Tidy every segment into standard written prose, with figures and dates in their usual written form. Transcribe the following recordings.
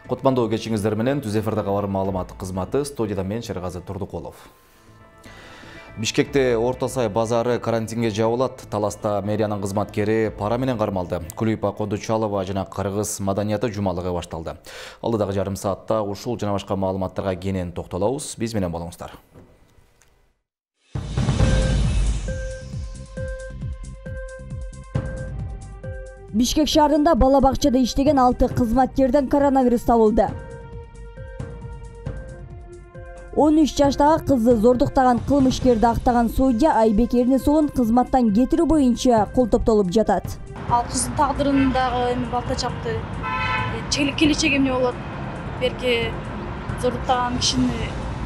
Кутмандуу кечиңиздер менен Түз эфирде кабар маалымат кызматы, студияда мен Шергази Турдукулов. Бишкекте Орто Сай базары карантинге жабылат. Таласта мэриянын кызматкери пара менен кармалды. Кулипа Кодучалова жана кыргыз маданияты жумалыгы башталды. Алдыдагы жарым саатта ушул жана башка маалыматтарга кенен токтолобуз. Биз менен болуңуздар. Бишкек шаарында бала бакчада иштеген 6 кызматкерден коронавирус табылды. 13 жаштагы кызды зордуктаган кылмышкерди актаган судья Айбек Эрнесулун кызматтан кетирүү боюнча кол топтолуп жатат. Ал кыздын тагдырын дагы эми балта чапты. Келечеги эмне болот? Берки зордуктаган кишини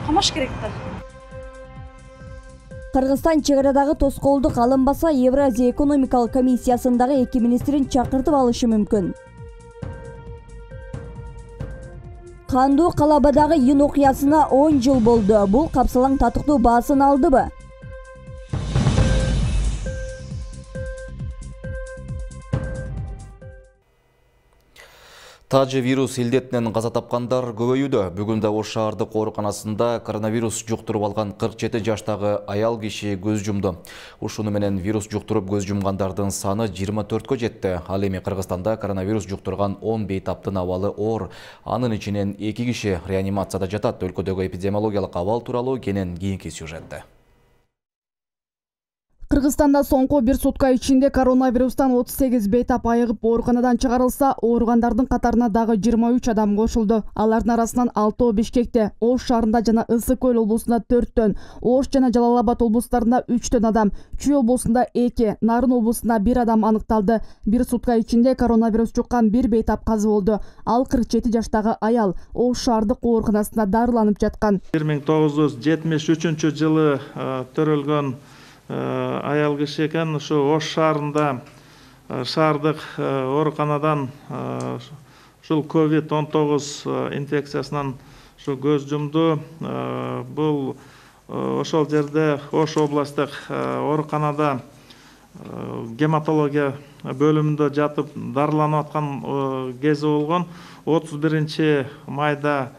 камаш керек да. Кыргызстан чегарадагы тоскоолдук алынбаса, Евразия экономикалык комиссиясындагы 2 министрин чакыртып алышы мүмкүн. Кандуу Калабадагы июнь окуясына 10 жыл болду. Бул капсалаң татыктуу баасын алдыбы? Тажы вирус илдетинен каза тапкандар көбөйүүдө. Бүгүн да Ош шаардык ооруканасында коронавирус жуктуруп алган 47 жаштагы аял киши көз жумду. Ушуну менен вирус жуктуруп көз жумгандардын саны 24кө жетти. Ал эми Кыргызстанда коронавирус жуктурган 10 бейтаптын абалы оор. Анын ичинен 2 киши реанимацияда жатат. Өлкөдөгү эпидемиологиялык абал тууралуу кенен кийинки сюжетте. Кыргызстанда соңку бир сутка ичинде коронавирустан 38 бейтап айыгып ооруканадан чыгарылса, ооругандардын катарына дагы 23 адам кошулду. Алардын арасынан 6 Бишкекте, Ош шаарында жана Ысык Көл облусунда 4төн, Ош жана Жалал Абад облустарында 3төн адам, Чүй облусунда 2, Нарын облусунда 1 адам аныкталды. Бир сутка ичинде коронавирус жуккан 1 бейтап казы болду. Ал 47 жаштагы аял Ош шаардык ооруканасында дарыланып жаткан. 1973-жылы төрөлгөн аял киши экен. Ушу Ош шаарында шаардык ооруканадан ушул COVID-19 инфекциясынан ушу көз жумду. Бул ошол жерде Ош областтык ооруканада гематология бөлүмүндө жатып дарыланып аткан кези болгон. 31 майда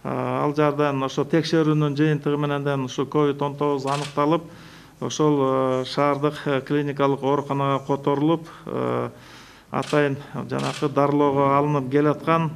ал жардан ошо текшерүүнүн жыйынтыгы менен ушу COVID-19 аныкталып, ошол шаардык клиникалык ооруканага которулуп, атайын жанакы дарылоого алынып келаткан.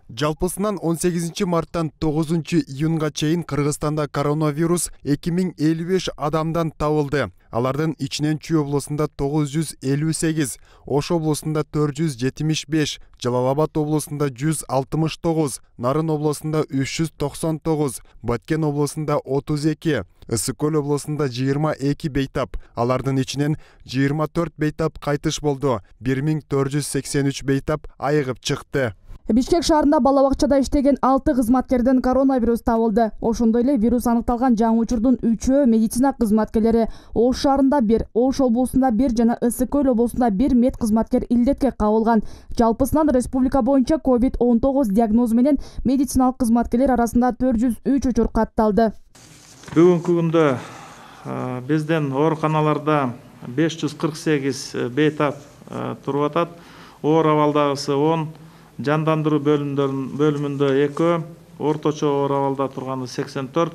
Жалпысынан 18 марттан 9 июнга чейин Кыргызстанда коронавирус 2055 адамдан табылды. Алардын ичинен Чүй облусунда 958, Ош облусунда 475, Жалал Абад облусунда 169, Нарын облусунда 399, Баткен облусунда 32, Ысык Көл облусунда 22 бейтап. Алардын ичинен 24 бейтап кайтыш болду. 1483 бейтап айыгып чыкты. Бишкек шаарында бала бакчада иштеген 6 кызматкерден коронавирус табылды. Ошондой эле вирус аныкталган жаңы учурдун 3-өө медицина кызматкерлери. Ош шаарында 1, Ош облусунда 1 жана Ысык Көл облусунда 1 мед кызматкер илдетке кабылган. Жалпысынан республика боюнча COVID-19 диагнозу менен медициналык кызматкерлер арасында 403 учур катталды. Бүгүнкү күндө биздин ооруканаларда 548 бейтап туруп атат. Оор абалдагысы 10, жандандыруу бөлүмүндө 2, орточо оор абалда турганы 84,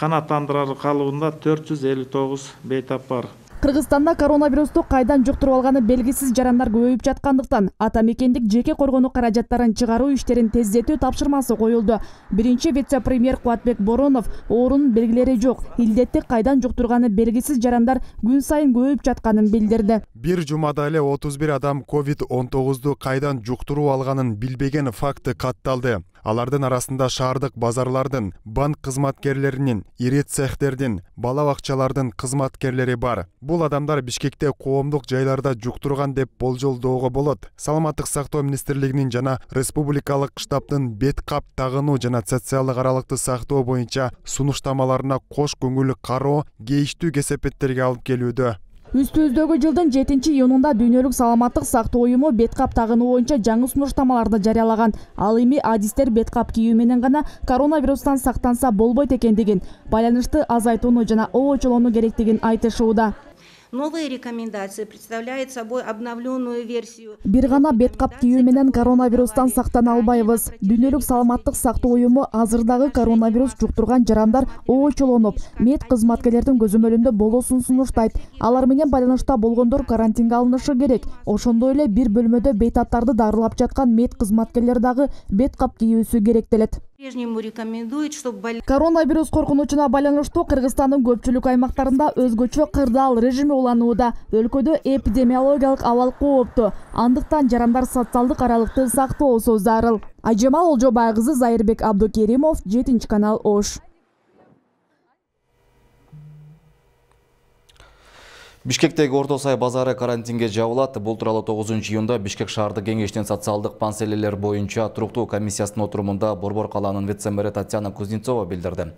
канааттандырар калыбында 459 бейтап бар. Кыргызстанда коронавирусту кайдан жуктуруп алганы белгисиз жарандар көбөйүп жаткандыктан ата мекендик жеке коргонуу каражаттарын чыгаруу иштерин тездетүү тапшырмасы коюлду. Биринчи вице-премьер Кубатбек Боронов оорунун белгилери жок, илдетти кайдан жуктурганы белгисиз жарандар күн сайын көбөйүп жатканын билдирди. Бир жумада эле 31 адам COVID-19ду кайдан жуктуруп алганын билбеген факты катталды. Алардын арасында шаардык базарлардын, банк кызматкерлеринин, ири цехтердин, бала бакчалардын кызматкерлери бар. Бул адамдар Бишкекте коомдук жайларда жуктурган деп болжолдоого болот. Саламаттык сактоо министрлигинин жана республикалык штабтын бет кап тагынуу жана социалдык аралыкты сактоо боюнча сунуштамаларына кош көңүл кароо кейиштүү кесепеттерге алып келүүдө. Үстүбүздөгү жылдын 7-июнунда Дүйнөлүк саламаттык сактоо уюму бет кап тагынуу боюнча жаңы сунуштамаларды жарыялаган. Ал эми адистер бет кап кийүү менен гана коронавирустан сактанса болбойт экендигин, байланышты азайтууну жана обочолоону керектигин айтышууда. Новые рекомендации представляют собой обновленную версию. Бир гана бет кап кийүү менен коронавирустан сактана албайбыз. Дүйнөлүк саламаттык сактоо уюму азырдагы коронавирус жуктурган жарандар оочолонуп, мед кызматкерлердин көзөмөлүндө болуусун сунуштайт. Алар менен байланышта болгондор карантинге алынышы керек. Ошондой эле бир бөлмөдө бейтаптарды дарылап жаткан мед кызматкерлер дагы бет кап кийүүсү керектелет. По-прежнему рекомендует, чтобы Коронавирус коркунучуна байланыштуу Кыргызстандын көпчүлүк аймактарында өзгөчө кырдаал режими уланууда. Өлкөдө эпидемиологиялык абал кооптуу. Андыктан жарандар социалдык аралыкты сактоосу зарыл. Айжамал Олжобай кызы, Зайырбек Абдукеримов, 7-канал Ош. Бишкектеги Орто Сай базары карантинге жабылат. Бул тууралуу 9-июнда Бишкек шаардык кеңештин социалдык маселелер боюнча туруктуу комиссиясынын отурумунда Борбор калаанын вице-мэри Татьяна Кузнецова билдирди.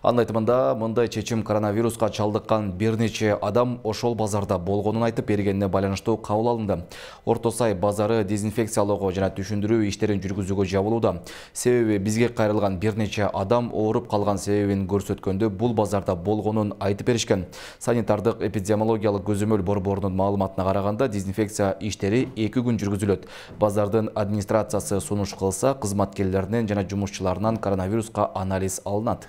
Анын айтымында, мындай чечим коронавируска чалдыккан бир нече адам ошол базарда болгонун айтып бергенине байланыштуу кабыл алынды. Орто Сай базары дезинфекциялоого жана түшүндүрүү иштерин жүргүзүүгө жабылууда. Себеби бизге кайрылган бир нече адам ооруп калган себебин көрсөткөндө бул базарда болгонун айтып беришкен. Санитардык эпидемиологиялык көзөмөл борборунун маалыматына караганда, дезинфекция иштери 2 күн жүргүзүлөт. Базардын администрациясы сунуш кылса, кызматкерлеринен жана жумушчуларынан коронавируска анализ алынат.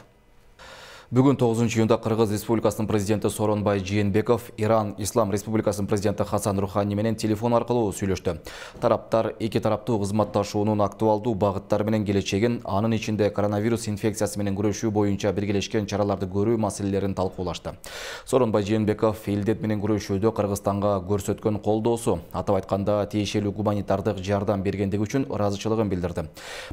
Бүгүн 9-июнда Кыргыз Республикасынын президенти Сооронбай Жээнбеков Иран Ислам Республикасынын президенти Хасан Рухани менен телефон аркылуу сүйлөштү. Тараптар эки тараптуу кызматташуунун актуалдуу багыттары менен келечегин, анын ичинде коронавирус инфекциясы менен күрөшүү боюнча биргелешкен чараларды көрүү маселелерин талкуулашты. Сооронбай Жээнбеков элдет менен күрөшүүдө Кыргызстанга көрсөткөн колдоосу, атап айтканда тиешелүү гуманитардык жардам бергендиги үчүн ыраазычылыгын билдирди.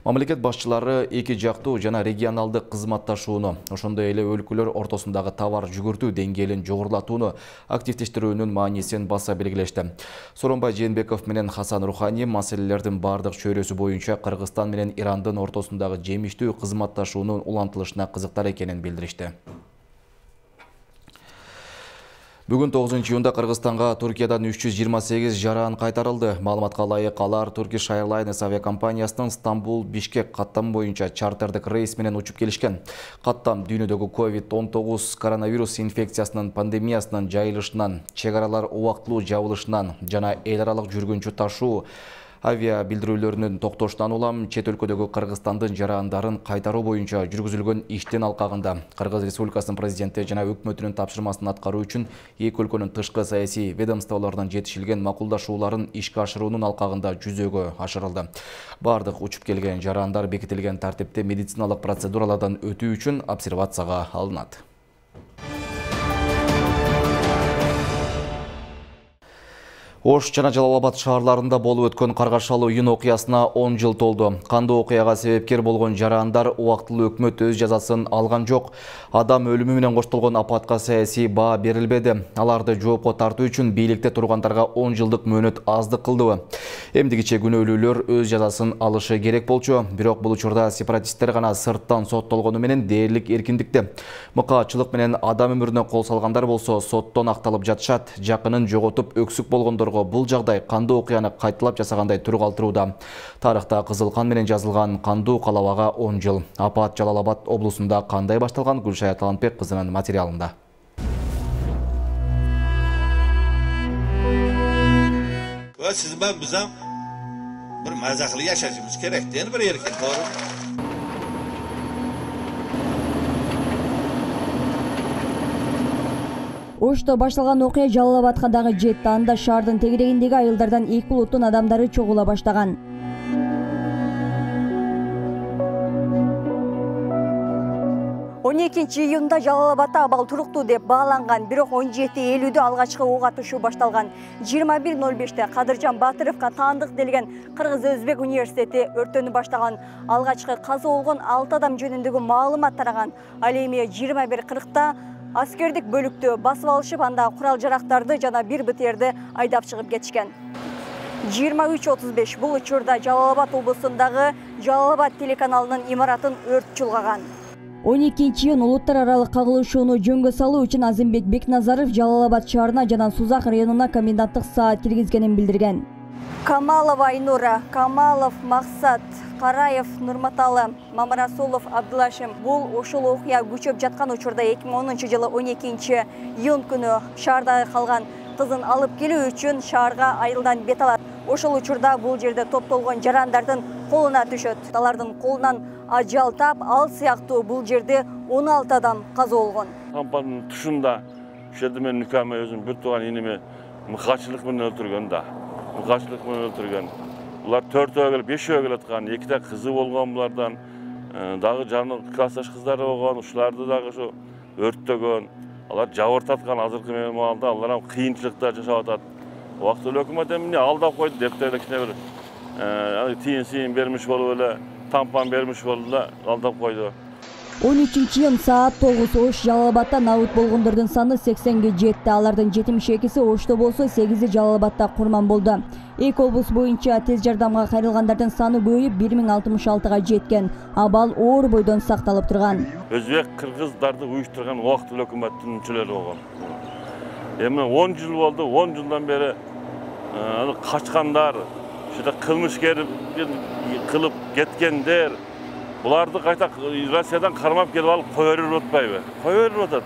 Мамлекет башчылары эки жактуу жана регионалдык кызматташууну, ошондой эле өлкөлөр ортосундагы товар жүгүртүү деңгээлин жогорулатууну активдештирүүнүн маанисин баса белгилешти. Сооронбай Жээнбеков менен Хасан Рухани маселелердин бардык чөйрөсү боюнча Кыргызстан менен Ирандын ортосундагы жемиштүү кызматташуунун улантылышына кызыктар экенин билдиришти. Бүгүн 9-июнда Кыргызстанга Туркиядан 328 жаран кайтарылды. Маалыматка ылайык алар Turkish Airlines авиакомпаниясынын Стамбул-Бишкек каттам боюнча чартердик рейс менен учуп келишкен. Каттам дүйнөдөгү COVID-19 коронавирус инфекциясынын пандемиясынын жайылышынан, чек аралар убактылуу жабылышынан жана эл аралык жүргүнчү ташуу авиа билдирүүлөрүнүн токтошунан улам чет өлкөдөгү Кыргызстандын жарандарын кайтаруу боюнча жүргүзүлгөн иштин алкагында Кыргыз Республикасынын президенти жана өкмөтүнүн тапшырмасын аткаруу үчүн эки өлкөнүн тышкы саясий ведомстволорунан жетишилген макулдашууларын ишке ашыруунун алкагында жүзөгө ашырылды. Бардык учуп келген жарандар бекитилген тартипте медициналык процедуралардан өтүү үчүн обсервацияга алынат. Ош жана Жалал Абад шаарларында болуп өткөн каргашалуу июнь окуясына 10 жыл толду. Кандуу окуяга себепкер болгон жарандар убактылуу өкмөт өз жазасын алган жок. Адам өлүмү менен коштолгон апатка саясий баа берилбеди. Аларды жоопко тартуу үчүн бийликте тургандарга 10 жылдык мөөнөт аздык кылдыбы? Эмдигиче күнөөлүүлөр өз жазасын алышы керек болчу. Бирок бул учурда сепаратисттер гана сырттан соттолгону менен дээрлик эркиндикте. Мыкаачылык менен адам өмүрүнө кол салгандар болсо соттон акталып жатышат. Жакынын жоготуп өксүк болгондор бул жагдай кандуу окуяны кайталап жасагандай түр калтырууда. Тарыхта кызыл кан менен жазылган кандуу калабага 10 жыл. Апат Жалал Абад облусунда кандай башталган? Гүлшая Талантбек кызынын материалында. Siz ben bizden bir mazaklı yaşayışımız gerektiğini bir erken doğru. Ошто башталган окуя Жалал Абадка дагы жетти. Анда шаардын тегерегиндеги айылдардан эки улуттун адамдары чогула баштаган. 12 июнда Жалал Абадда абал туруктуу деп бааланган, бирок 17:50 алгачкы ок атышуу башталган. 21:05 Кадыржан Батыровго таандык делген Кыргыз-Өзбек университети өртөнү баштаган. Алгачкы каза болгон 6 адам жөнүндөгү маалымат тараган. Ал эми 21:40 аскердик бөлүктү басып алышып, анда курал-жарактарды жана бир БТРди айдап чыгып кетишкен. 23:35 бул учурда Жалал Абад облусундагы Жалал Абад телеканалынын имаратын өрт чулгаган. 12 июнь улуттар аралык кагылышууну жөнгө салуу үчүн Азимбек Бекназаров Жалал Абад шаарына жана Сузак районуна коменданттык саат киргизгенин билдирген. Камалова Айнура, Камалов Максат, Караев, Нурматалы, Мамарасулов, Абдулашим. Бул ошол окуя күчөп жаткан учурда 2010 жылы 12 июнь күнү шаардагы калган кызын алып келүү үчүн шаарга айылдан бет алат. Ошол учурда бул жерде топтолгон жарандардын колуна түшөт. Алардын колунан ажал тап, ал сыяктуу бул жерде 16 адам каза болгон. Кампанын тушунда ушул жерде мен нүкөмө өзүм бир тууган иниме мыкачылык менен өлтүргөн да. Мыкачылык менен өлтүргөн. Булар 4-өө келип 5-өө келаткан, 2 кызы болгон булардан, дагы жаны классташ кыздары болгон, ушуларды дагы ушу өрттөгөн. Алар жабыртаткан азыркы маалда алар кыйынчылыкта жашап атат. Убактылуу өкмөт эмне алдап койду деп эле кичине бир тиын бермиш болуп эле, тампан бермиш болду да алдап койду. 13-июнь саат 9 Ош Жалал-Абадта набыт болгондордун саны 80-ге жетти. Алардын 72-си Ошто болсо, 8-и Жалал-Абадта курман болду. Эки облус боюнча тез жардамга кайрылгандардын саны көбөйүп 1066-га жеткен. Абал оор бойдон сакталып турган. Өзбек, кыргыздарды уюштурган убактылуу өкмөттүн мүчөлөрү болгон. Эми 10 жыл болду, 10 жылдан бери качкандар, ушуда кылмышкер кылып кеткендер, буларды кайта Россиядан кармап келип алып кое берип атпайбы? Кое берип атат.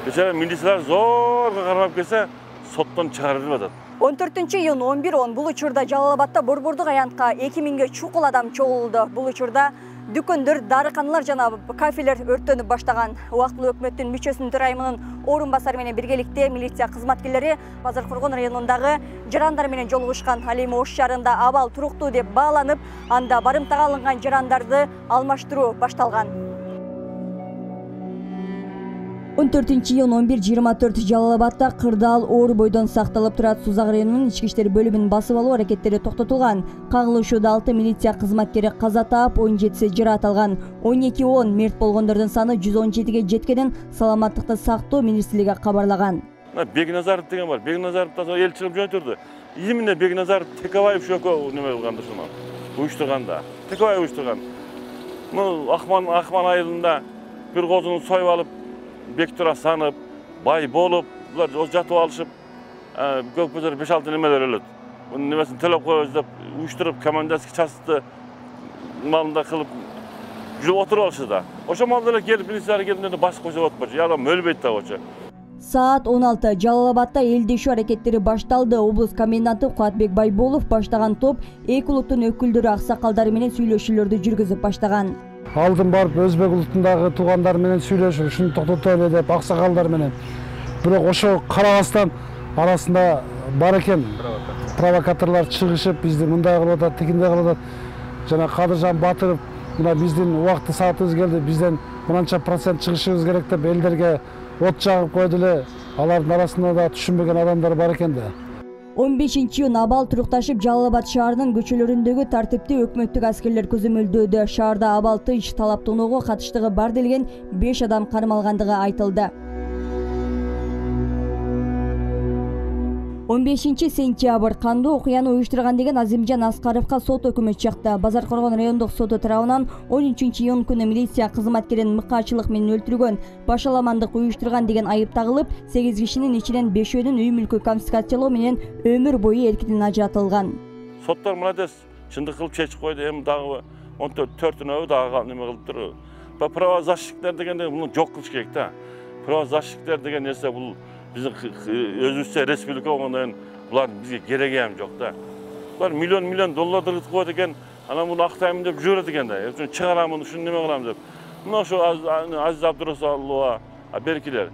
Бечара милициялар зорго кармап келсе, соттон чыгарылып атат. 14-июнь 11:10 бул учурда Жалал-Абадта борбордук аянтка 2000ге чукул адам чогулду. Бул учурда дүкөндөр, дарыканалар жана кафелер өрттөнүп баштаган. Убактылуу өкмөттүн мүчөсүнүн төрайымынын орун басары менен биргеликте милиция кызматкерлери Базар Коргон районундагы жарандар менен жолугушкан. Ал эми Ош шаарында абал туруктуу деп бааланып, анда барымтага алынган жарандарды алмаштыруу башталган. 14-июнь 11:24 Жалал-Абадта кырдаал оор бойдон сакталып турат. Сузак районунун ички иштер бөлүмүнүн басып алуу аракеттери токтотулган. Кагылышууда 6 милиция кызматкери каза таап, 17-си жараат алган. 12:10 мерт болгондордун саны 117-ге жеткенин Саламаттыкты сактоо министрлиги кабарлаган. Бекназаров деген бар. Бекназаров да эл чыгып жөнөтүрдү. Именно Бекназаров Текебаев шөкө неме кылганда ушуну уюштурганда. Текебаев уюштурган. Акман айылында бир козуну союп алып, бектура санып, бай болуп, булар жатып алышып, көкпөзөр 5-6 немелер өлөт. Мунун немесин төлөп коебуз деп уюштуруп, командирский частты малында кылып жүрүп отуруп алышты да. Ошо малда эле келип милициялар келгенде баш койсо отпочу, адам өлбөйт да очо. Саат 16 Жалал-Абадта элдешүү аракеттери башталды. Облус коменданты Куатбек Байболов баштаган топ эки улуттун өкүлдөрү, аксакалдары менен сүйлөшүүлөрдү жүргүзүп баштаган. Алдын барып өзбек улутундагы туугандар менен сүйлөшүп, ушуну токтотолу деп аксакалдар менен. Бирок ошо карабастан арасында бар экен провокаторлор чыгышып, бизди мындай кылып атат, тигиндей кылып атат. Жана Кадыржан Батыров мына биздин убакыт саатыбыз келди, бизден мынанча процент чыгышыбыз керек деп элдерге от жагып койду эле. Алардын арасында да түшүнбөгөн адамдар бар экен да. 15-июнь абал турукташып, Жалал-Абад шаарынын көчөлөрүндөгү тартипти өкмөттүк аскерлер көзөмөлдөөдө. Шаарда абал тынч талаптоонууга катыштыгы бар делген 5 адам кармалгандыгы айтылды. 15 сентябрь кандуу окуяны уюштурган деген Азимжан Аскаровго сот өкмү чыкты. Базар Коргон райондук соту тарабынан 13-июнь күнү милиция кызматкерин мыкаачылык менен өлтүргөн, башаламандык уюштурган деген айып тагылып, 8 кишинин ичинен 5-өөнүн үй мүлкү конфискациялоо менен өмүр бою эркинен ажыратылган. Соттор мынадес чындык кылып чечип койду, эми дагы 14-өө дагы неме кылыптыр. Правозащитниктер дегенде муну жок кылыш керек да. Правозащитниктер деген нерсе бул биздин өзүбүзчө республика болгондон булар бизге кереги эм жок да. Булар миллион долларды кытып коет экен, анан муну актаймын деп жүрөт экен да. Чыгарамын, ушуну неме кылам деп. Мына ошо Азиз Абдурасулова беркилер.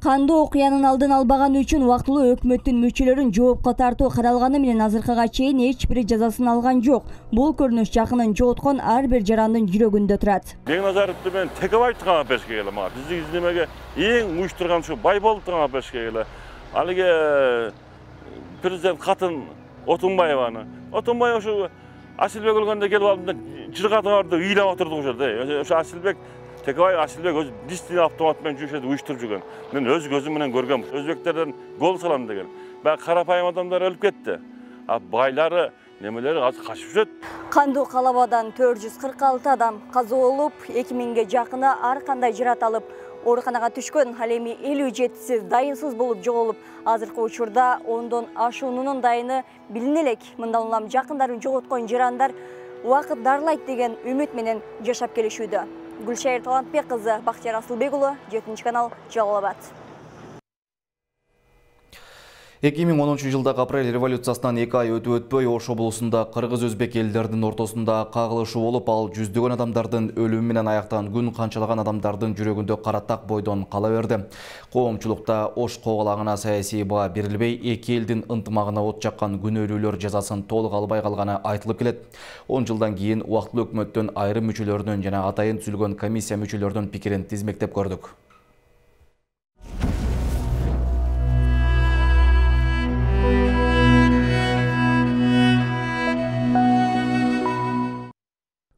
Кандуу окуянын алдын албаган үчүн убактылуу өкмөттүн мүчөлөрүн жоопко тартуу каралганы менен азыркыга чейин эч бири жазасын алган жок. Бул көрүнүш жакынын жооткон ар бир жарандын жүрөгүндө турат. Бекназаровду мен Текебаевди камап беришке келе мага. Биздин немеге эң уюштурган ушу Байболовду камап беришке келе. Алиге президент катын Отунбаеваны. Отунбаев ушу Асилбек өлгөндө келип алып жыргатып ыйлап отурду ошо жерде. Ошо Асилбек Асилбек өз дистин автомат менен жүрүшөдү уюштуруп жүргөн. Мен өз көзүм менен көргөм. Өзбектерден гол салам деген. Баягы карапайым адамдар өлүп кетти. А байлары, немелери азыр качып жүрөт. Кандуу калабадан 446 адам каза болуп, 2000ге жакыны ар кандай жараат алып, ооруканага түшкөн. Ал эми 57-си дайынсыз болуп жоголуп, азыркы учурда 10дон ашуунун дайыны билине элек. Мындан улам жакындарын жоготкон жарандар убакыт дарылайт деген үмүт менен жашап келишүүдө. Гүлшайыр Талантбек кызы, Бактияр Асылбек уулу, 7 канал, Жалал Абад. 2010 жылдагы апрель революциясынан 2 ай өтпөй Ош облусунда кыргыз-өзбек элдердин ортосунда кагылышуу болуп, ал жүздөгөн адамдардын өлүмү менен аяктаган күн канчалаган адамдардын жүрөгүндө каратак бойдон кала берди. Коомчулукта Ош коголагына саясий баа берилбей, эки элдин ынтымагына от жаккан күнөөлүүлөр жазасын толук албай калганы айтылып келет. 10 жылдан кийин убактылуу өкмөттөн айрым мүчөлөрүнүн жана атайын түзүлгөн комиссия мүчөлөрүнүн пикирин тизмектеп көрдүк.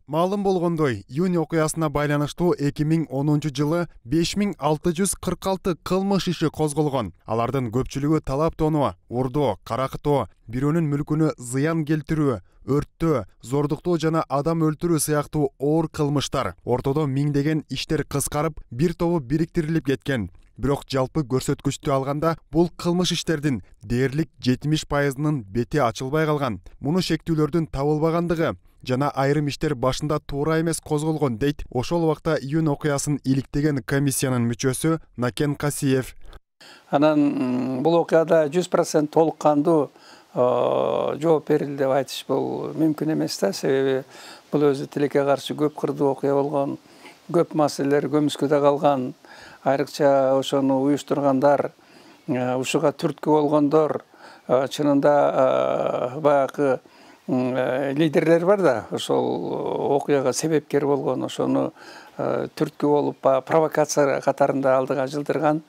Маалым болгондой, июнь окуясына байланыштуу 2010 жылы 5646 кылмыш иши козголгон. Алардын көпчүлүгү талап тоноо, урдоо, каракытоо, бирөөнүн мүлкүнө зыян келтирүү, өрттөө, зордуктоо жана адам өлтүрүү сыяктуу оор кылмыштар. Ортодо миңдеген иштер кыскарып, бир тобу бириктирилип кеткен. Бирок жалпы көрсөткүчтү алганда, бул кылмыш иштердин дээрлик 70%-нын бети ачылбай калган. Муну шектүүлөрдүн табылбагандыгы жана айрым иштер башында туура эмес козголгон дейт ошол убакта июнь окуясын иликтеген комиссиянын мүчөсү Накен Касиев. Анан бул окуяда 100% толук кандуу жооп берилди деп айтыш бул мүмкүн эмес да, себеби бул өзү тилекке каршы көп кырдуу окуя болгон, көп маселелер көмүскөдө калган, айрыкча ошону уюштургандар, ушуга түрткү болгондор, чынында баягы лидерлер бар да, ошол окуяга себепкер болгон, ошону түрткү болуп, провокация катарында алдыга жылдырган,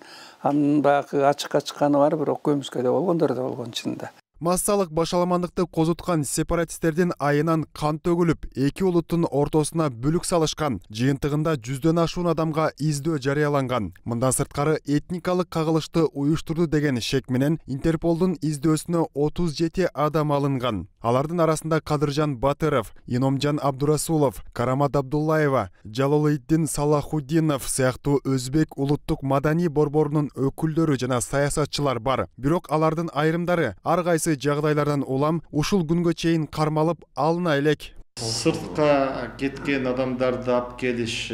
анын баягы ачыкка чыкканы бар, бирок көмүскөдө болгондор да болгон чынында. Массалык башаламандыкты козуткан сепаратисттердин айынан кан төгүлүп, эки улуттун ортосуна бүлүк салышкан. Жыйынтыгында 100дөн ашуун адамга издөө жарыяланган. Мындан сырткары этникалык кагылышты уюштурду деген шек менен Интерполдун издөөсүнө 37 адам алынган. Алардын арасында Кадыржан Батыров, Иномжан Абдурасулов, Карамат Абдуллаева, Жалолиддин Салахуддинов сыяктуу өзбек улуттук маданий борборунун өкүлдөрү жана саясатчылар бар. Бирок алардын айрымдары ар кайсы жагдайлардан улам ушул күнгө чейин кармалып алына элек. Сыртка кеткен адамдарды алып келиш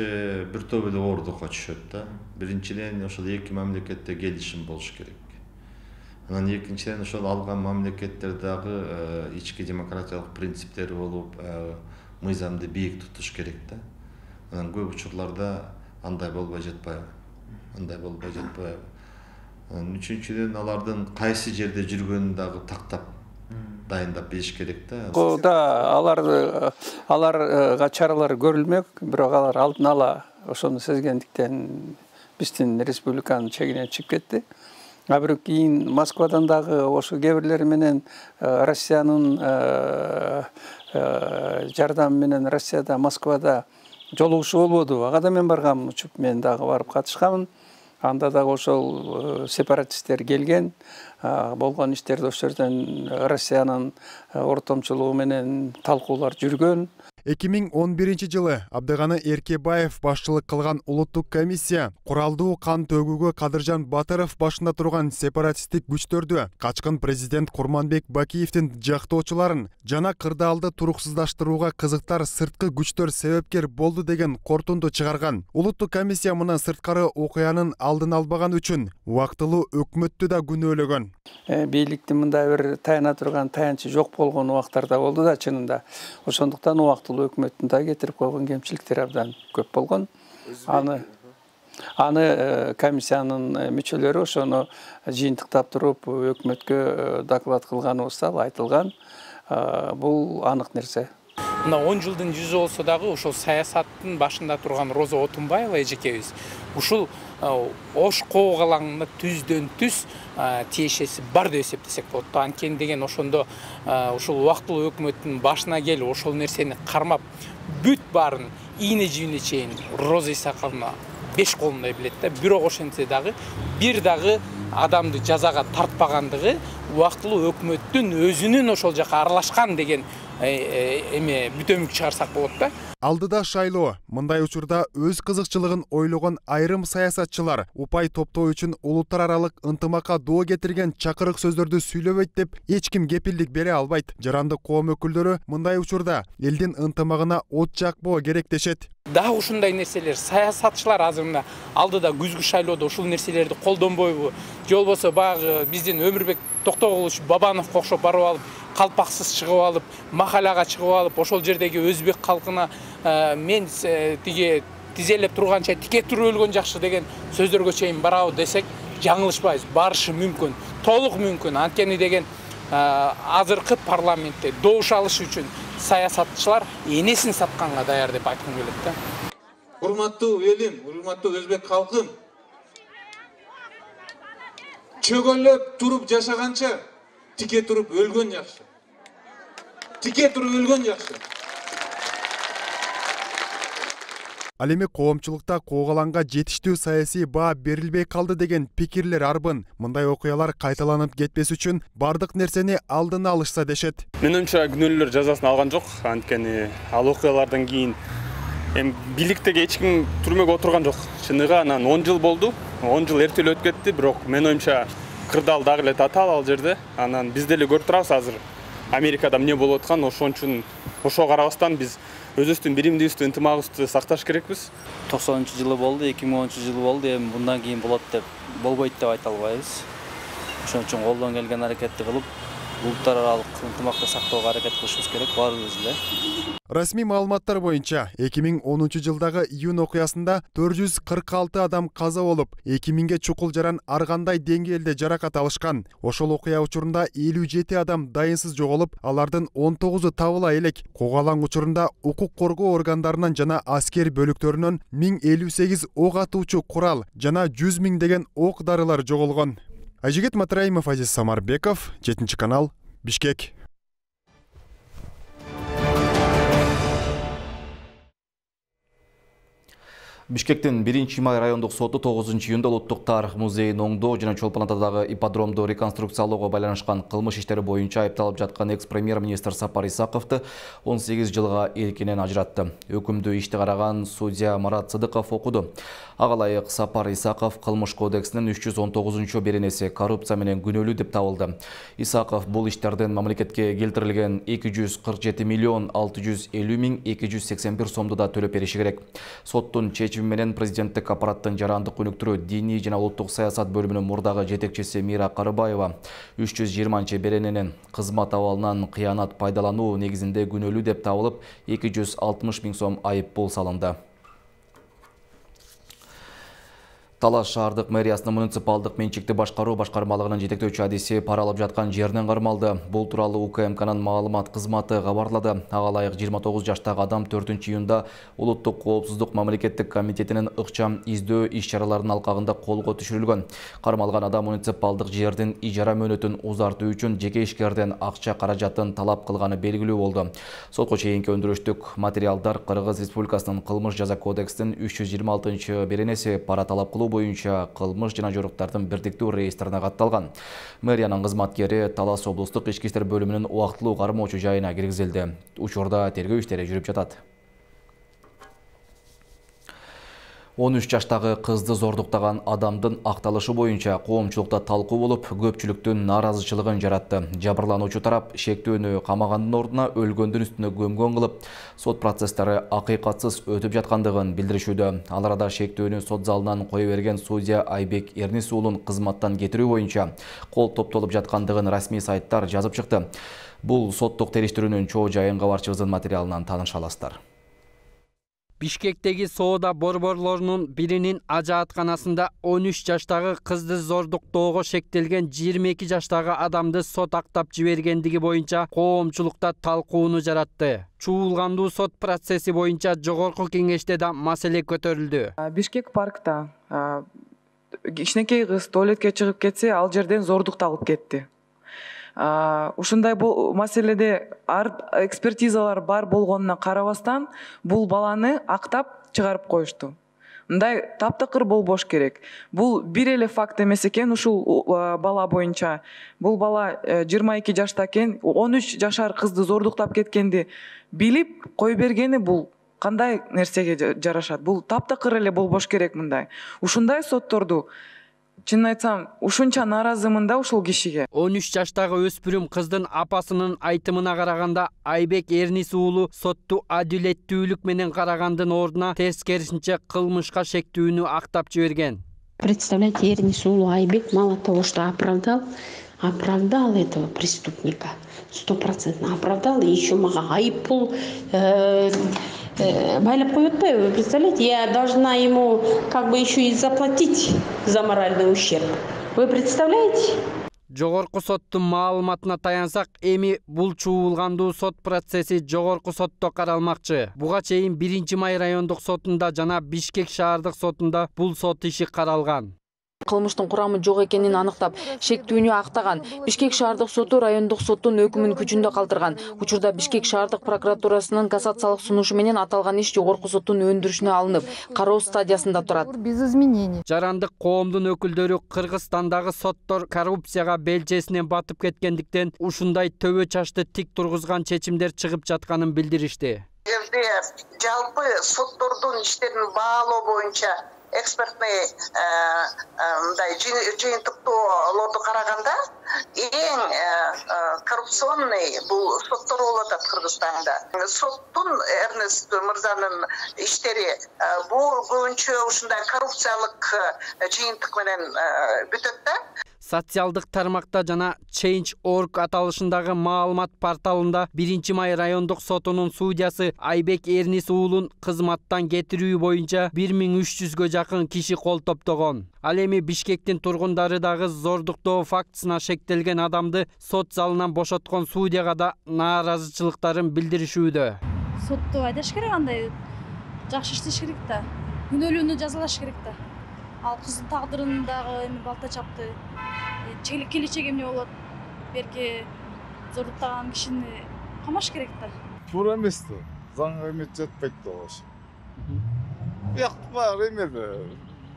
бир топ эле оордукка түшөт да. Биринчиден ошол эки мамлекетте келишим болуш керек. Анан экинчиден ошол алган мамлекеттер дагы ички демократиялык принциптери болуп, мыйзамды бийик тутуш керек да. Анан көп учурларда андай болбой жатпайбы. Үчүнчүдөн алардын кайсы жерде жүргөнүн дагы тактап дайындап бериш керек да. Да, аларга чаралар көрүлмөк, бирок алар алдын ала ошону сезгендиктен биздин республиканын чегинен чыгып кетти. А бирок кийин Москвадан дагы ошо кээ бирлери менен Россиянын жардамы менен Россияда, Москвада жолугушуу болбоду. Ага да мен баргам, учуп мен дагы барып катышкамын. Анда дагы ошол сепаратисттер келген, болгон иштерди ошол жерден Россиянын ортомчулугу менен талкуулар жүргөн. 2011 жылы Абдыганы Эркебаев башчылык кылган улуттук комиссия куралдуу кан төгүүгө Кадыржан Батыров башында турган сепаратисттик күчтөрдү, качкын президент Курманбек Бакиевдин жактоочуларын жана кырдаалды туруксуздаштырууга кызыктар сырткы күчтөр себепкер болду деген кортунду чыгарган. Улуттук комиссия мындан сырткары окуянын алдын албаган үчүн убактылуу өкмөттү да күнөөлөгөн. Бийликтин мындай бир таяна турган таянчы жок болгон убактарда болду да чынында. Ошондуктан убактылуу өкмөттүн да кетирип койгон кемчиликтери абдан көп болгон. Аны комиссиянын мүчөлөрү ошону жыйынтыктап туруп өкмөткө доклад кылганыбызда айтылган. Бул анык нерсе. Мына 10 жылдын жүзү болсо дагы ошол саясаттын башында турган Роза Отунбаева эжекебиз ушул Ош коголаңына түздөн түз тиешеси бар деп эсептесек болот. Анткени деген ошондо ушул убактылуу өкмөттүн башына келип ошол нерсени кармап бүт баарын ийне жибине чейин Роза Исаковна 5 колундай билет да. Бирок ошентсе дагы бир дагы адамды жазага тартпагандыгы убактылуу өкмөттүн өзүнүн ошол жака аралашкан деген эме бүтөмүк чыгарсак болот да. Алдыда шайлоо. Мындай учурда өз кызыкчылыгын ойлогон айрым саясатчылар упай топтоо үчүн улуттар аралык ынтымакка доо кетирген чакырык сөздөрдү сүйлөбөйт деп эч ким кепилдик бере албайт. Жарандык коом өкүлдөрү мындай учурда элдин ынтымагына от жакпоо керек дешет. Дагы ушундай нерселер саясатчылар азыр мына алдыда күзгү шайлоодо ушул нерселерди колдонбойбу? Же болбосо баягы биздин Өмүрбек Токтогулович Бабановго окшоп барып алып, калпаксыз чыгып алып, махалага чыгып алып, ошол жердеги өзбек калкына мен тиги тизелеп турганча тике туруп өлгөн жакшы деген сөздөргө чейин барабы десек, жаңылышпайбыз. Барышы мүмкүн, толук мүмкүн. Анткени деген азыркы парламентте добуш алыш үчүн саясатчылар энесин сатканга даяр деп айткым келет да. Урматтуу элим, урматтуу өзбек калкым, чөгөлөп туруп жашаганча тике туруп өлгөн жакшы. Тике туруп өлгөн жакшы. Ал эми коомчулукта коогаланга жетиштүү саясий баа берилбей калды деген пикирлер арбын. Мындай окуялар кайталанып кетпес үчүн бардык нерсени алдын алышса дешет. Менимче күнөөлөр жазасын алган жок. Анткени ал окуялардан кийин бийликтеги эч ким түрмөгө отурган жок. Чыныгы анан 10 жыл болду. 10 жыл эртелеп өтүп кетти, бирок мен оюмча кырдаал дагы эле татаал ал жерде. Анан биз деле көрүп турабыз азыр Америкада эмне болуп аткан, ошон үчүн ошого карабастан биз өзүбүздүн биримдигибизди, ынтымагыбызды сакташ керекпиз. 90-жылы болду, 2010-жылы болду, эми мындан кийин болот деп болбойт деп айта албайбыз. Ошон үчүн колдон келген аракетти кылып, улуттар аралык ынтымакты сактоого аракет кылышыбыз керек баарыбыз эле. Расмий маалыматтар боюнча 2010-жылдагы июнь окуясында 446 адам каза болуп, 2000ге чукул жаран ар кандай деңгээлде жаракат алышкан. Ошол окуя учурунда 57 адам дайынсыз жоголуп, алардын 19-у табыла элек. Коогалаң учурунда укук коргоо органдарынан жана аскер бөлүктөрүнөн 1058 ок атуучу курал жана 100 000 деген ок дарылар жоголгон. Айжигит Матраимов, Азиз Самарбеков, 7 канал, Бишкек. Бишкектин 1-май райондук соту 9-июнда Улуттук тарых музейин оңдоо жана Чолпон Атадагы ипподромду реконструкциялоого байланышкан кылмыш иштери боюнча айыпталып жаткан экс-премьер-министр Сапар Исаковду 18 жылга эркинен ажыратты. Өкүмдү ишти караган судья Марат Сыдыков окуду. Ага ылайык Сапар Исаков кылмыш кодексинин 319-беренеси коррупция менен күнөөлүү деп табылды. Исаков бул иштердин мамлекетке келтирилген 247 миллион 650 миң 281 сомду да төлөп бериши керек. Соттун чечими менен президенттик аппараттын жарандык өнүктүрүү диний жана улуттук саясат бөлүмүнүн мурдагы жетекчиси Мира Карыбаева 320 берененин кызмат абалынан кыянат пайдалануу негизинде күнөөлүү деп табылып, 260 миң сом айып пул салынды. Талаш шаардык мэриясынын муниципалдык менчикти башкаруу башкармалыгынын жетектөөчү адиси пара алып жаткан жеринен кармалды. Бул тууралуу УКМКнын маалымат кызматы кабарлады. Ага ылайык 29 жаштагы адам 4-июнда Улуттук коопсуздук мамлекеттик комитетинин ыкчам издөө иш-чараларынын алкагында колго түшүрүлгөн. Кармалган адам муниципалдык жердин ижара мөөнөтүн узартуу үчүн жеке ишкерден акча каражатын талап кылганы белгилүү болду. Сотко чейинки өндүрүштүк материалдар Кыргыз Республикасынын кылмыш жаза кодексинин 326-беренеси пара талап кылуу боюнча кылмыш жана жоруктардын бирдиктүү реестрине катталган. Мэриянын кызматкери Талас облустук ички иштер бөлүмүнүн убактылуу кармоочу жайына киргизилди. Учурда тергөө иштери жүрүп жатат. 13 жаштагы кызды зордуктаган адамдын акталышы боюнча коомчулукта талкуу болуп, көпчүлүктүн нааразычылыгын жаратты. Жабырлануучу тарап шектүүнү камагандын ордуна өлгөндүн үстүнө көмгөн кылып, сот процесстери акыйкатсыз өтүп жаткандыгын билдиришүүдө. Ал арада шектүүнү сот залынан кое берген судья Айбек Эрнис уулун кызматтан кетирүү боюнча кол топтолуп жаткандыгын расмий сайттар жазып чыкты. Бул соттук териштирүүнүн чоо жайын кабарчыбыздын материалынан тааныша аласыздар. Бишкектеги соода борборлорунун биринин ажаатканасында 13 жаштагы кызды зордуктоого шектелген 22 жаштагы адамды сот актап жибергендиги боюнча коомчулукта талкууну жаратты. Чуулгандуу сот процесси боюнча жогорку кеңеште да маселе көтөрүлдү. Бишкек паркта кичинекей кыз туалетке чыгып кетсе, ал жерден зордукталып кетти. Ушундай маселеде экспертизалар бар болгонуна карабастан бул баланы актап чыгарып коюшту. Мындай таптакыр болбош керек. Бул бир эле факт эмес экен ушул бала боюнча. Бул бала 22 жашта экен, 13 жашар кызды зордуктап кеткенди билип кой бергени бул кандай нерсеге жарашат? Бул таптакыр эле болбош керек мындай. Ушундай сотторду чынын айтсам, ушунча нааразымын да ушул кишиге. 13 жаштагы өспүрүм кыздын апасынын айтымына караганда Айбек Эрнис уулу сотту адилеттүүлүк менен карагандын ордуна тескерисинче кылмышка шектүүнү актап жиберген. Представляете, Эрнис уулу Айбек мало того, что оправдал этого преступника, 100% оправдал, и еще мага айыппул байлап коет атпайбы? Вы представляете, я должна ему как бы еще и заплатить за моральный ущерб. Вы представляете? Жогорку соттун маалыматына таянсак, эми бул чуулгандуу сот процесси жогорку сотто каралмакчы. Буга чейин 1-май райондук сотунда жана Бишкек шаардык сотунда бул сот иши каралган. Кылмыштын курамы жок экенин аныктап, шектүүнү актаган. Бишкек шаардык соту райондук соттун өкүмүн күчүндө калтырган. Учурда Бишкек шаардык прокуратурасынын кассациялык сунушу менен аталган иш жогорку соттун өндүрүшүнө алынып, кароо стадиясында турат. Без изменений. Жарандык коомдун өкүлдөрү Кыргызстандагы соттор коррупцияга белчесинен батып кеткендиктен ушундай төбө чачты тик тургузган чечимдер чыгып жатканын билдиришти. Жерде жалпы соттордун иштерин баалоо боюнча экспертный жыйынтыктоолорду караганда эң коррупционный бул соттор болуп атат Кыргызстанда. Соттун Эрнест мырзанын иштери бул көбүнчө ушундай коррупциялык жыйынтык менен бүтөт да. Социалдык тармакта жана Change.org аталышындагы маалымат порталында 1-май райондук сотунун судьясы Айбек Эрнис уулун кызматтан кетирүү боюнча 1300гө жакын киши кол топтогон. Ал эми Бишкектин тургундары дагы зордуктоо фактысына шектелген адамды сот залынан бошоткон судьяга да нааразычылыктарын билдиришүүдө. Сотту айдаш керек, андай жакшы иштеш керек да. Күнөөлүүнү жазалаш керек да. Ал кыздын тагдырын дагы эми балта чапты. Келечеги эмне болот? Берки зордуктаган кишини камаш керек да. Туура эмес да. Заңга эме жатпайт да ошо. Бияк бар эме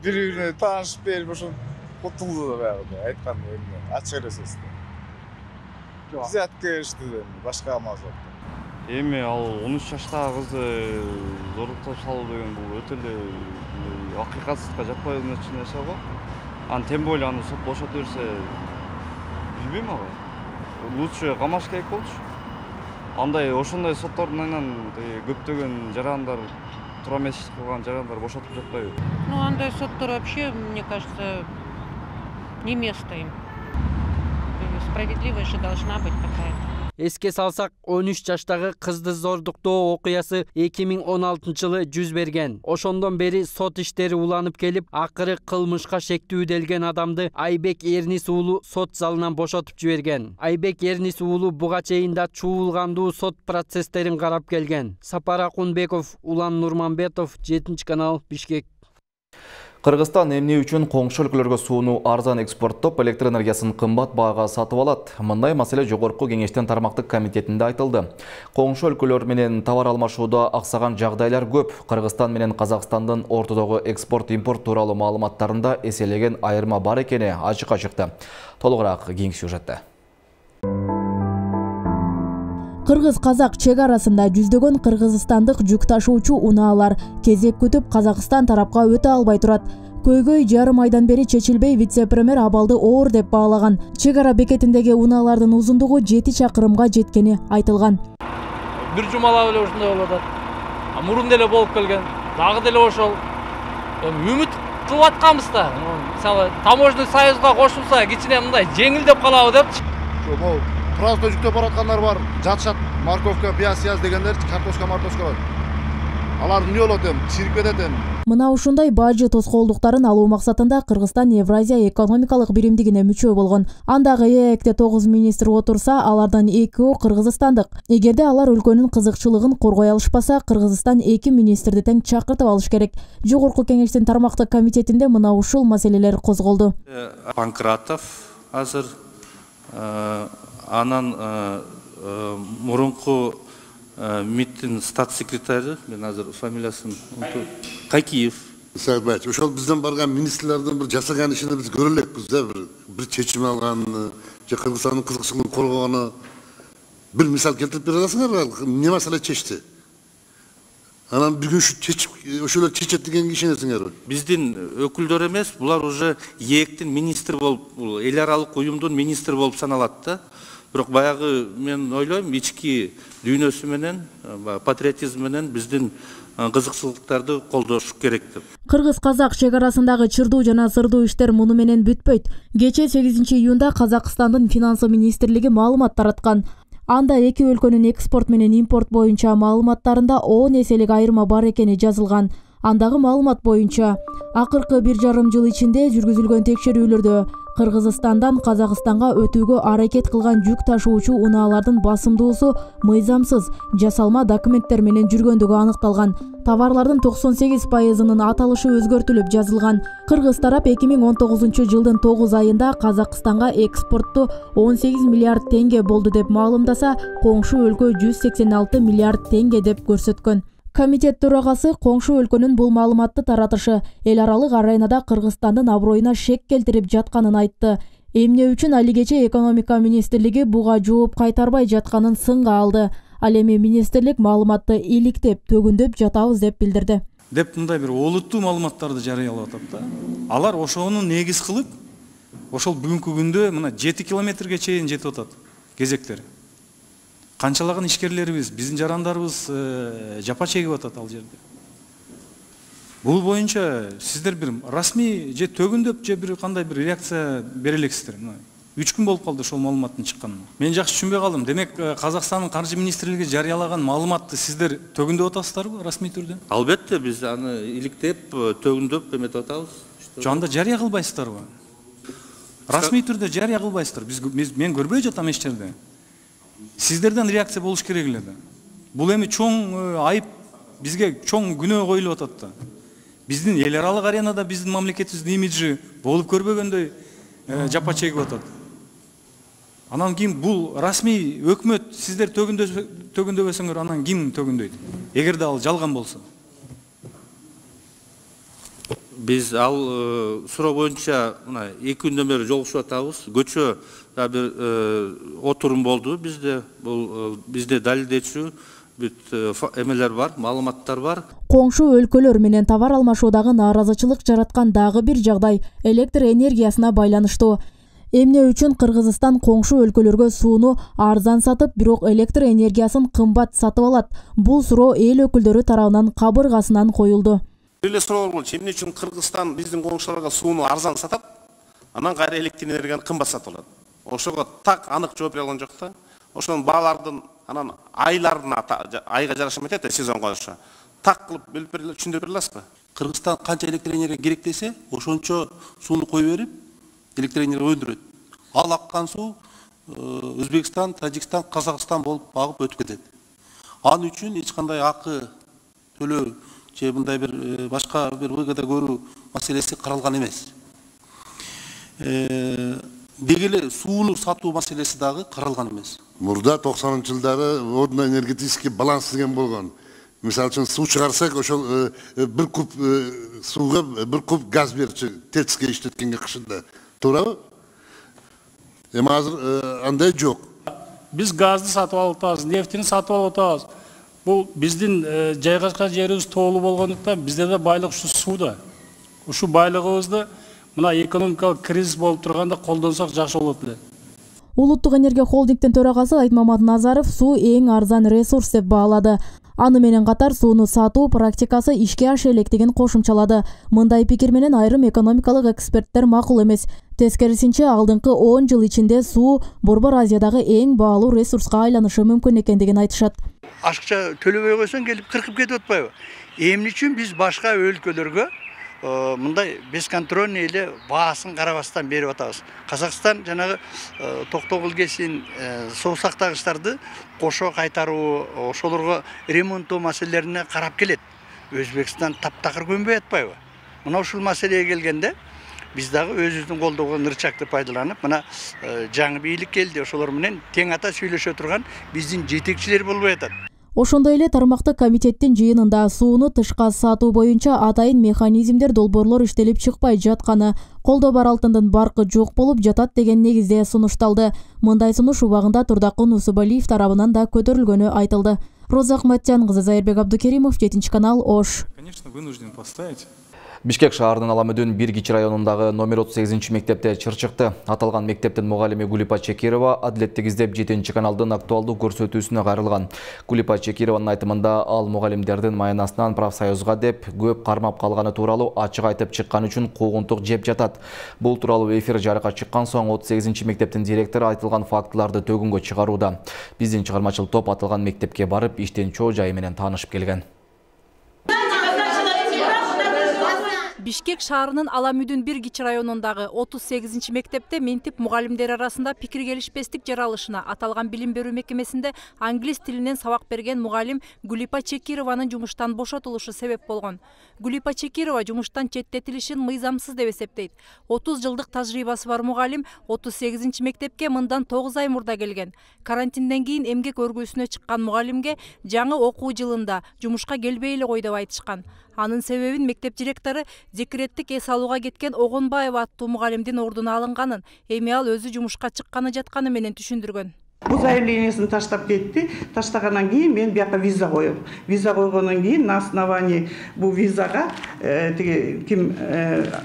бири-бирине таанышып берип ошо кутулду да баягы айткан эмне ачык элесиз да. Взятка ишти да башка амал жок. Эми ал 13 жаштагы кызды зордуктап салуу деген бул өтө эле акыйкатсызга жатпай нерсе го. Тем более аны сот бошотуп берсе, билбейм ага. Лучше камаш керек болчу. Андай ошондой соттордун айынан көптөгөн жарандар туура эмес иш кылган жарандар бошотуп жатпайбы? Ну, андай соттор вообще, мне кажется, не место им. Справедливость же должна быть какая-то. Эске салсак, 13 жаштагы кызды зордуктоо окуясы 2016-жылы жүз берген. Ошондон бери сот иштери уланып келип, акыры кылмышка шектүүделген адамды Айбек Эрнис уулу сот залынан бошотуп жиберген. Айбек Эрнис уулу буга чейин да чуулгандуу сот процесстерин карап келген. Сапар Акунбеков, Улан Нурманбетов, 7-канал, Бишкек. Кыргызстан эмне үчүн коңшу өлкөлөргө сууну арзан экспорттоп, электр энергиясын кымбат баага сатып алат? Мындай маселе жогорку кеңештин тармактык комитетинде айтылды. Коңшу өлкөлөр менен товар алмашууда аксаган жагдайлар көп. Кыргызстан менен Казакстандын ортодогу экспорт-импорт тууралуу маалыматтарында эселеген айырма бар экени ачыкка чыкты. Толугураак кийинки сюжетте. Кыргыз-казак чек арасында жүздөгөн кыргызстандык жүк ташуучу унаалар кезек күтүп Казакстан тарапка өтө албай турат. Көйгөй жарым айдан бери чечилбей, вице-премьер абалды оор деп баалаган. Чек ара бекетиндеги унаалардын узундугу 7 чакырымга жеткени айтылган. Бир жумалап эле ушундай болуп атат. Мурун деле болуп келген. Дагы деле ошол. Үмүт кылып атканбыз да. Мисалы, таможенный союзга кошулса, кичине мындай жеңилдеп калабы депчи. Просто жүктөп бараткандар бар, жатышат, морковка, пияз дегендер, картошка бар. Алар эмне болот эми, чирип кетет эми. Мына ушундай бажы тоскоолдуктарын алуу максатында Кыргызстан Евразия экономикалык биримдигине мүчө болгон. Андагы ЭЭКте 9 министр отурса, алардан 2 кыргызстандык. Эгерде алар өлкөнүн кызыкчылыгын коргой алышпаса, Кыргызстан 2 министрди тең чакыртып алыш керек. Жогорку кеңештин тармактык комитетинде мына ушул маселелер козголду. Панкратов азыр анан мурунку МИДтин стат секретары, мен азыр фамилиясын Какиев. Сагбаевич, ошол бизден барган министрлердин бир жасаган ишини биз көрө элекпиз да, бир чечим алганын, же Кыргызстандын кызыкчылыгын коргогону. Бир мисал келтирип бере аласыңарбы? Эмне маселе чечти? Анан bir gün şu ошолор чечет дегенге ишенесиңерби? Биздин өкүлдөр эмес, булар уже ээктин министри болуп, бул эл аралык уюмдун министри болуп саналат да. Бирок баягы мен ойлойм, ички дүйнөсү менен, патриотизм менен биздин кызыкчылыктарды колдош керек деп. Кыргыз-казак чек арасындагы чырдуу жана сырдуу иштер муну менен бүтпөйт. Кечээ 8 июнда Казакстандын финансы министрлиги маалымат тараткан. Анда эки өлкөнүн экспорт менен импорт боюнча маалыматтарында 10 эселик айырма бар экени жазылган. Андагы маалымат боюнча акыркы 1,5 жыл ичинде жүргүзүлгөн текшерүүлөрдө Кыргызстандан Казакстанга өтүүгө аракет кылган жүк ташуучу унаалардын басымдуусу мыйзамсыз жасалма документтер менен жүргөндүгү аныкталган. Товарлардын 98%-нын аталышы өзгөртүлүп жазылган. Кыргыз тарап 2019 жылдын 9 айында Казакстанга экспортту 18 миллиард теңге болду деп маалымдаса, коңшу өлкө 186 миллиард теңге деп көрсөткөн. Комитет төрагасы коңшу өлкөнүн бул маалыматты таратышы эл аралык аренада Кыргызстандын аброюна шек келтирип жатканын айтты. Эмне үчүн алигече экономика министрлиги буга жооп кайтарбай жатканын сынга алды. Ал эми министрлик маалыматты иликтеп, төгүндөп жатабыз деп билдирди. Деп мындай бир олуттуу маалыматтарды жарыялап атат да. Алар ошону негиз кылып, ошол бүгүнкү күндө мына 7 километрге чейин жетип атат кезектер. Канчалаган ишкерлерибиз, биздин жарандарыбыз жапа чегип атат ал жерде. Бул боюнча сиздер бир расмий же төгүндөп же бир кандай бир реакция бере элексиздер. 3 күн болуп калды ошол маалыматтын чыкканына. Мен жакшы түшүнбөй калдым. Демек Казакстандын каржы министрлиги жарыялаган маалыматты сиздер төгүндөп атасыздарбы расмий түрдө? Албетте биз аны иликтеп, төгүндөп эметип атабыз. Жанда жарыя кылбайсыздарбы? Расмий түрдө жарыя кылбайсыздар. Мен көрбөй жатам эч жерде. Сиздерден реакция болуш керек эле да. Бул эми чоң айып, бизге чоң күнөө коюлуп атат да. Биздин эл аралык аренада биздин мамлекетибиздин имиджи болуп көрбөгөндөй жапа чегип атат. Анан ким бул расмий өкмөт сиздер төгүндөбөсөңөр, анан ким төгүндөйт? Эгерде ал жалган болсо. Биз ал суроо боюнча мына 2 күндөн бери жолугушуп атабыз. Көчө бир отурум болду бизде. Бул бизде далилдечү бүт эмелер бар, маалыматтар бар. Коңшу өлкөлөр менен товар алмашуудагы нааразычылык жараткан дагы бир жагдай электр энергиясына байланыштуу. Эмне үчүн Кыргызстан коңшу өлкөлөргө сууну арзан сатып, бирок электр энергиясын кымбат сатып алат? Бул суроо эл өкүлдөрү тарабынан кабыргасынан коюлду. Эле суроо болчу, эмне үчүн Кыргызстан биздин коңшуларга сууну арзан сатат, анан кайра электр энергияны кымбат сатып алат? Ошого так анык жооп бере алган жок да. Ошонун баалардын анан айларына, айга жараша эметет да, сезонго жараша. Так кылып бөлүп бере, түшүндүрүп бере аласызбы? Кыргызстан канча электр энергия керек десе, ошончо сууну кое берип, электр энергия өндүрөт. Ал аккан суу Өзбекстан, Тажикстан, Казакстан болуп багып өтүп кетет. Анын үчүн эч кандай акы төлөө же мындай бир башка бир выгода көрүү маселеси каралган эмес. Деги эле сууну сатуу маселеси дагы каралган эмес. Мурда 90-жылдары водно-энергетический баланс деген болгон. Мисалы үчүн суу чыгарсак, ошол бир куб сууга бир куб газ берчү ТЭЦке иштеткенге кышында. Туурабы? Эми азыр андай жок. Биз газды сатып алып атабыз, нефтини сатып алып атабыз. Бул биздин жайгашкан жерибиз тоолуу болгондуктан бизде да байлык ушу сууда. Ушу байлыгыбызды мына экономикалык кризис болуп турганда колдонсок жакшы болот эле. Улуттук энергия холдингдин төрагасы Айтмамат Назаров суу эң арзан ресурс деп баалады. Аны менен катар сууну сатуу практикасы ишке аша электигин кошумчалады. Мындай пикир менен айрым экономикалык эксперттер макул эмес. Тескерисинче, алдыңкы 10 жыл ичинде суу Борбор Азиядагы эң баалуу ресурска айланышы мүмкүн экендигин айтышат. Ашыкча төлөбөй койсоң келип кыркып кетип атпайбы? Эмне үчүн биз башка өлкөлөргө мындай бесконтрольный эле баасын карабастан берип атабыз? Казакстан жанагы токтогул кесин соо сактагычтарды кошо кайтаруу, ошолорго ремонттоо маселелерине карап келет. Өзбекстан таптакыр көнбөй атпайбы? Мына ушул маселеге келгенде биз дагы өзүбүздүн колдогон ырчакты пайдаланып, мына жаңы бийлик келди, ошолор менен тең ата сүйлөшө турган биздин жетекчилер болбой атат. Ошондой эле тармактык комитеттин жыйынында сууну тышка сатуу боюнча атайын механизмдер, долбоорлор иштелип чыкпай жатканы, колдо бар алтындын баркы жок болуп жатат деген негизде сунушталды. Мындай сунуш убагында Турдакын Усубалиев тарабынан да көтөрүлгөнү айтылды. Роза Ахматжан кызы, Зайырбек Абдукеримов, 7 канал, Ош. Конечно, вынужден поставить. Бишкек шаарынын Аламүдүн Биргичи районундагы номер 38 мектепте чыр чыкты. Аталган мектептин мугалими Гулипа Чекирова адилеттик издеп 7 каналдын актуалдуу көрсөтүүсүнө кайрылган. Гулипа Чекированын айтымында ал мугалимдердин маянасынан профсоюзга деп көп кармап калганы тууралуу ачык айтып чыккан үчүн куугунтук жеп жатат. Бул тууралуу эфир жарыкка чыккан соң 38 мектептин директору айтылган фактыларды төгүнгө чыгарууда. Биздин чыгармачыл топ аталган мектепке барып иштин чоо жайы менен таанышып келген. Бишкек шаарынын Аламүдүн Биргичи районундагы 38 мектепте ментип мугалимдер арасында пикир келишпестик жаралышына аталган билим берүү мекемесинде англис тилинен сабак берген мугалим Гулипа Чекированын жумуштан бошотулушу себеп болгон. Гулипа Чекирова жумуштан четтетилишин мыйзамсыз деп эсептейт. 30 жылдык тажрыйбасы бар мугалим 38 мектепке мындан 9 ай мурда келген. Карантинден кийин эмгек өргүүсүнө чыккан мугалимге жаңы окуу жылында жумушка келбей эле кой деп айтышкан. Анын себебин мектеп директору декреттик эс алууга кеткен Огонбаева аттуу мугалимдин ордуна алынганын, эми ал өзү жумушка чыкканы жатканы менен түшүндүргөн. Бул заявлениесин таштап кетти. Таштагандан кийин мен бияка виза коем. Виза койгондон кийин на основании бул визага ким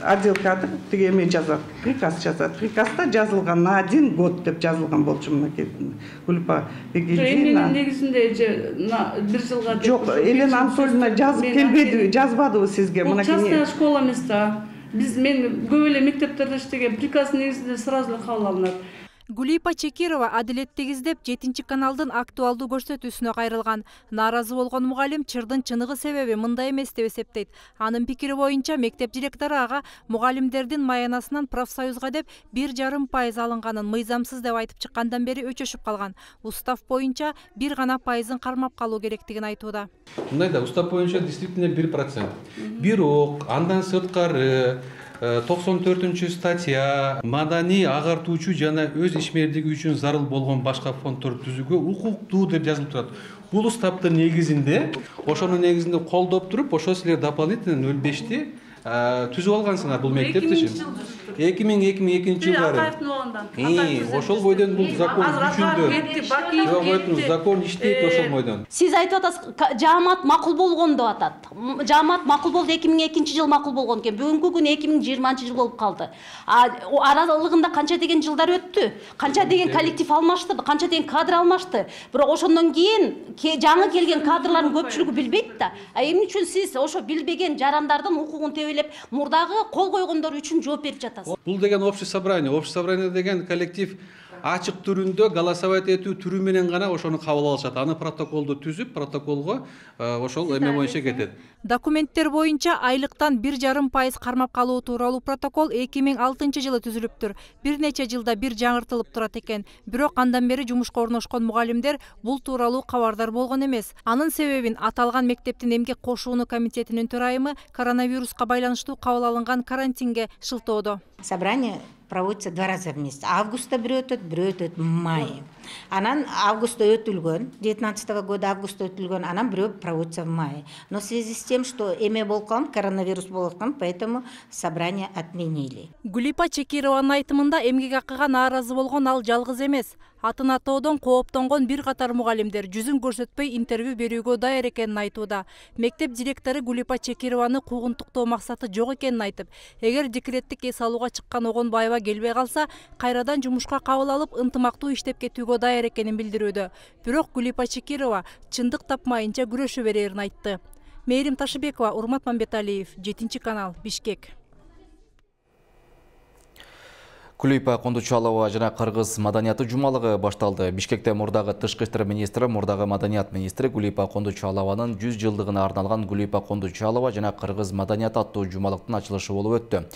отдел кадр эме жазат, приказ жазат. Приказда жазылган на 1 год деп жазылган болчу мынакей. Гулипа Эмненин негизинде на 1 жылга деп. Жок, Елена Анатольевна жазып келбеди, жазбадыбы сизге мынакей. Частная школа эмес да. Мен көп эле мектептерде иштеген, приказдын негизинде сразу кабыл алынат. Гулипа Чекирова адилеттик издеп 7 каналдын актуалдуу көрсөтүүсүнө кайрылган. Нааразы болгон мугалим чырдын чыныгы себеби мындай эмес деп эсептейт. Анын пикири боюнча мектеп директору ага мугалимдердин маянасынан профсоюзга деп 1,5% алынганын мыйзамсыз деп айтып чыккандан бери өчөшүп калган. Устав боюнча 1 гана пайызын кармап калуу керектигин айтууда. Мындай да, устав боюнча действительно 1%. Бирок андан сырткары 94-статья маданий агартуучу жана өз ишмердиги үчүн зарыл болгон башка фонддорду түзүүгө укуктуу деп жазылып турат. Бул уставдын негизинде, ошонун негизинде колдоп туруп, ошо силер дополнительно 0,5ти түзүп алгансыңар бул мектепти. 2002 жылдары. Ошол бойдон бул закон күчүндө. Закон иштейт ошол бойдон. Сиз айтып атасыз, жаамат макул болгон деп атат. Жаамат макул болду, 2002 жыл макул болгон экен. Бүгүнкү күн 2020 жыл болуп калды. Аралыгында канча деген жылдар өттү, канча деген коллектив алмаштырды, канча деген кадр алмашты. Бирок ошондон кийин жаңы келген кадрлардын көпчүлүгү билбейт да. Эмне үчүн сиз ошо билбеген жарандардын укугун тебелеп, мурдагы кол койгондор үчүн жооп берип жатасыз? Бул деген общее собрание деген коллектив ачык түрүндө голосовать этүү түрү менен гана ошону кабыл алышат. Аны протоколду түзүп, протоколго ошол эме боюнча кетет. Документтер боюнча айлыктан 1,5% кармап калуу тууралуу протокол 2006 жылы түзүлүптүр. Бир нече жылда бир жаңыртылып турат экен. Бирок андан бери жумушка орношкон мугалимдер бул тууралуу кабардар болгон эмес. Анын себебин аталган мектептин эмгек кошууну комитетинин төрайымы коронавируска байланыштуу кабыл алынган карантинге шылтоодо. Собрание проводится 2 раза в месяц. Августа бир өтөт в мае. Анан августа өтүлгөн, 19 года августа өтүлгөн, анан бирөө проводится в мае. Но в связи с тем, что эме болгон, коронавирус болгон, поэтому собрание отменили. Гулипа Чекированын айтымында эмгек акыга нааразы болгон ал жалгыз эмес. Атын атоодон кооптонгон бир катар мугалимдер жүзүн көрсөтпөй интервью берүүгө даяр экенин айтууда. Мектеп директору Гулипа Чекированы куугунтуктоо максаты жок экенин айтып, эгер декреттик эс алууга чыккан Огонбаева келбей калса, кайрадан жумушка кабыл алып, ынтымактуу иштеп кетүүгө даяр экенин билдирүүдө. Бирок Гулипа Чекирова чындык тапмайынча күрөшө берерин айтты. Мээрим Ташыбекова, Урмат Мамбеталиев, 7 канал, Бишкек. Гулипа Кондучалова жана кыргыз маданияты жумалыгы башталды. Бишкекте мурдагы тышкы иштер министри, мурдагы маданият министри Гулипа Кондучалованын 100 жылдыгына арналган Гулипа Кондучалова жана кыргыз маданияты аттуу жумалыктын ачылышы болуп өттү.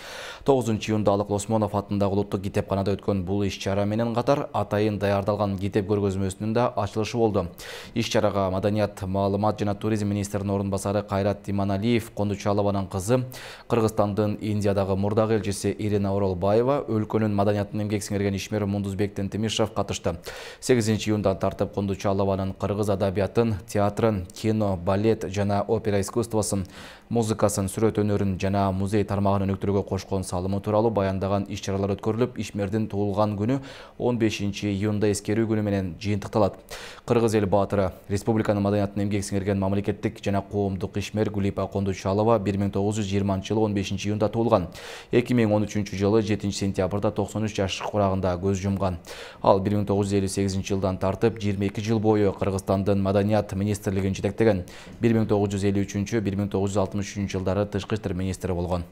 9 июнда Алык Осмонов атындагы улуттук китепканада өткөн бул иш-чара менен катар атайын даярдалган китеп көргөзмөсүнүн да ачылышы болду. Иш-чарага маданият, маалымат жана туризм министринин орун басары Кайрат Иманалиев, Кондучалованын кызы, Кыргызстандын Индиядагы мурдагы элчиси Ирина Оролбаева, өлкөнүн маданияттын эмгек сиңирген ишмери Мундузбек Тентимишев катышты. 8 июндан тартып Кондучалованын кыргыз адабиятын, театрын, кино, балет жана опера искусствосун, музыкасын, сүрөт өнөрүн жана музей тармагын өнүктүрүүгө кошкон салымы тууралуу баяндаган иш-чаралар өткөрүлүп, ишмердин туулган күнү 15 июнда эскерүү күнү менен жыйынтыкталат. Кыргыз эл баатыры, республиканын маданиятына эмгек сиңирген мамлекеттик жана коомдук ишмер Гүлипа Кондучалова 1920-жылы 15 июнда туулган. 2013-жылы 7-сентябрда 93 жаш курагында көз жумган. Ал 1958-жылдан тартып 22 жыл бою Кыргызстандын маданият министрлигин жетектеген. 1953-1963 жылдары тышкы иштер министри болгон.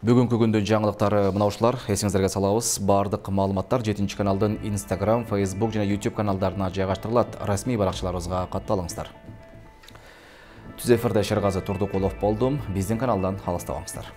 Бүгүнкү күндүн жаңылыктары мына ушулар. Эсиңиздерге салабыз, бардык маалыматтар 7-каналдын Instagram, Facebook жана YouTube каналдарына жайгаштырылат. Расмий баракчаларыбызга катталыңыздар. Түз эфирде Шергаzy Турдукулов болдум. Биздин каналдан алыстабаңыздар.